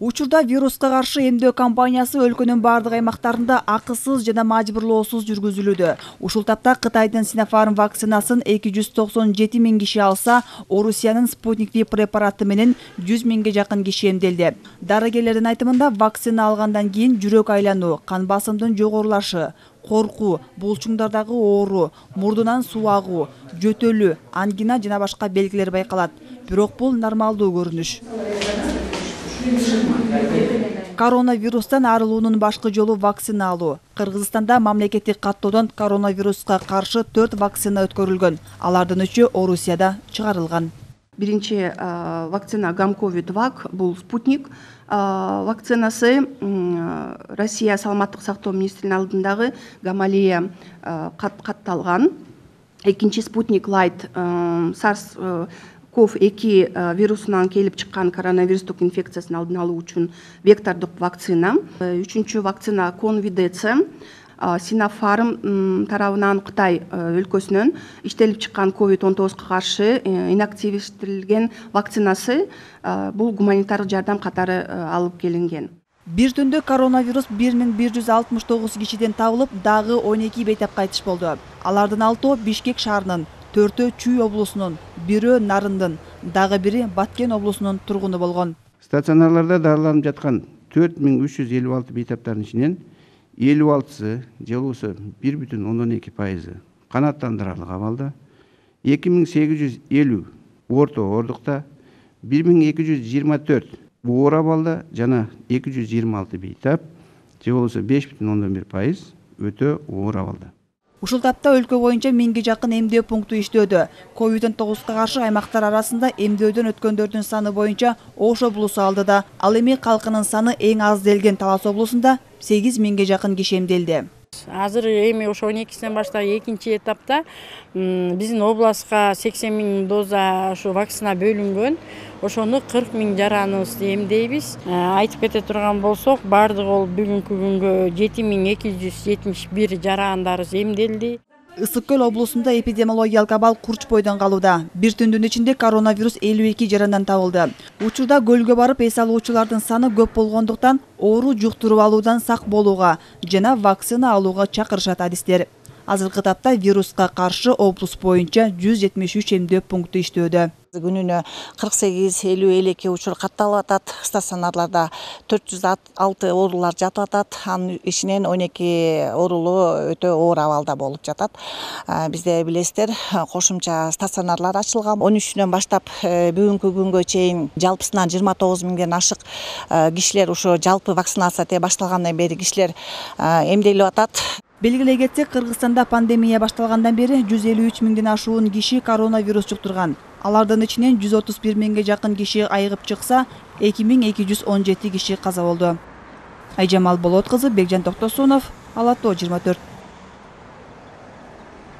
Учурда вируска каршы эмдөө кампаниясы өлкөнүн бардык аймактарында акысыз жана мажбурлоосуз жүргүзүлүүдө. Ушул тапта Кытайдын Sinopharm вакцинасын 297 миң киши алса, Орусиянын Sputnik V препараты менен 100 миңге жакын киши эмделди. Дарыгерлердин айтымында, вакцина алгандан кийин жүрөк айлануу, кан басымдын жогорулашы, коркуу, булчуңдардагы оору, мурдунан суу агуу, жөтөлүү, ангина жана башка белгилер байкалат. Бирок бул нормалдуу көрүнүш. Коронавирустан арылуунун башкы жолу вакцина алуу. Кыргызстанда мамлекеттик каттоодон коронавируска каршы 4 вакцина өткөрүлгөн. Алардын 3-ü Орусияда чыгарылган. Биринчи вакцина Гамковид-2 бул Спутник вакцинасы. Россия саламаттык сактоо министринин алдындагы Гамалея катталган. Экинчи Спутник Light SARS-CoV-2 вирусунан келип чыккан коронавирустук инфекциясын алдын алуу үчүн вектордук вакцина. Үчүнчү вакцина Convidece Sinopharm тарабынан Кытай өлкөсүнөн иштелип чыккан COVID-19 каршы инактивдетилген вакцинасы. Бул гуманитардык жардам катары алып келинген. Бир түндө коронавирус 1169 кишиден табылып, дагы 12 бейтап кайтыш болду. Алардын 6-ы Бишкек шаарынын, 4-ü Чүй облусунун, 1-ü Нарындын, дагы бири Баткен облусунун тургуну болгон. Стационарларда дарыланып жаткан 4356 бейтаптардын ичинен 56-сы же болбосо 1,2% канааттандырарлык абалда, 2850 орто оордукта, 1224 оор абалда жана 226 бейтап же болбосо 5,1% өтө оор абалда. Ушул тапта өлкө боюнча 1000ге жакын эмдөө пункту иштөөдө. COVID-19 каршы аймактар арасында эмдөөдөн өткөндөрдүн саны боюнча Ош облусу алдыда. Ал эми калкынын саны эң аз делген Талас облусунда 8 миңге жакын киши эмделди. Азыр эми ошо 12-синен баштап экинчи этапта биздин областка 80 миң доза ушу вакцина бөлүнгөн. Ошону 40 миң жараныбызды эмдейбиз. Айтып кете турган болсок, бардыгы ол бүгүнкү күнгө 7271 жарандарыбыз эмделди. Ысык Көл облусунда эпидемиологиялык абал курч бойдон калууда. Бир түндүн ичинде коронавирус 52 жарандан табылды. Учурда көлгө барып эс алуучулардын саны көп болгондуктан оору жуктуруп алуудан сак болууга жана вакцина алууга чакырышат адистер. Азыркы тапта вируска каршы облус боюнча 173 эмдөө пункту иштөөдө. Күнүнө 48-50 элеке учур катталып атат. Стационарларда 406 оорулар жатып атат. Анын ичинен 12 оорулуу өтө оор абалда болуп жатат. Бизде билесиздер, кошумча стационарлар ачылган. 13-үнөн баштап бүгүнкү күнгө чейин жалпысынан 29 миңден ашык кишилер ушу жалпы вакцинация башталгандан бери кишилер эмделип атат. Белгилей кетсек, Кыргызстанда пандемия башталгандан бери 153 миңден ашуун киши коронавирус жуктурган. Алардын ичинен 131 миңге жакын киши айыгып чыкса, 2217 киши каза болду. Айжамал Болот кызы, Бекжан Токтосунов, Ала Тоо 24.